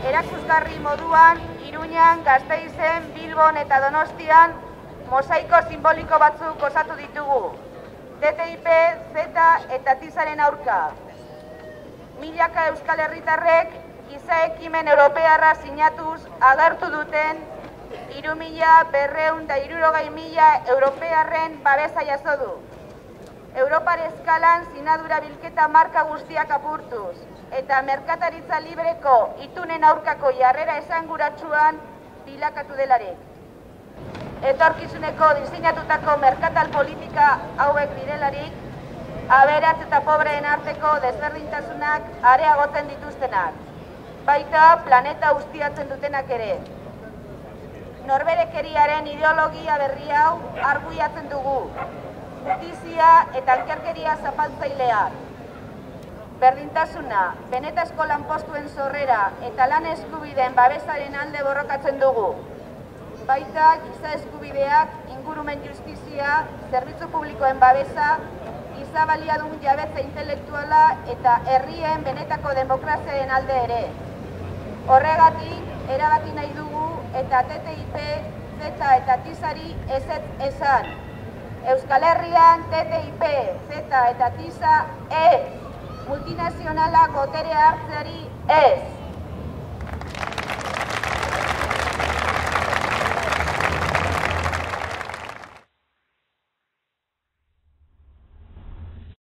erakusgarri moduan Iruñan, Gasteizen, Bilbon eta Donostian mosaiko simboliko batzuk osatu ditugu. TTIP, CETA eta TISAren aurka. Milaka euskal herritarrek giza ekimen europearra sinatuz agertu duten 3.260.000 europearren babesa jaso du. Europar eskalan sinadura bilketa marka guztiak apurtuz eta merkataritza libreko itunen aurkako jarrera esanguratsuan bilakatu delarik. Etorkizuneko diseinatutako merkatal politika hauek direlarik, aberats eta pobreen arteko desberdintasunak areagotzen dituztenak, baita planeta ustiatzen dutenak ere. Norberekeriaren ideologia berri hau arguiatzen dugu, justizia eta ankerkeria zapaltzaileak. Berdintasuna, benetazko lanpostuen sorrera eta lan eskubideen babesaren alde borrokatzen dugu. Baita giza eskubideak, ingurumen justizia, zerbitzu publikoen babesa, giza baliadun jabetza intelektuala eta herrien benetako demokraziaren alde ere. Horregatik, erabaki nahi dugu eta TTIP, CETA eta TISAri ezetz esan. Euskal Herrian TTIP, CETA eta TISA ez. Multinazionalak boterea hartzeari ez.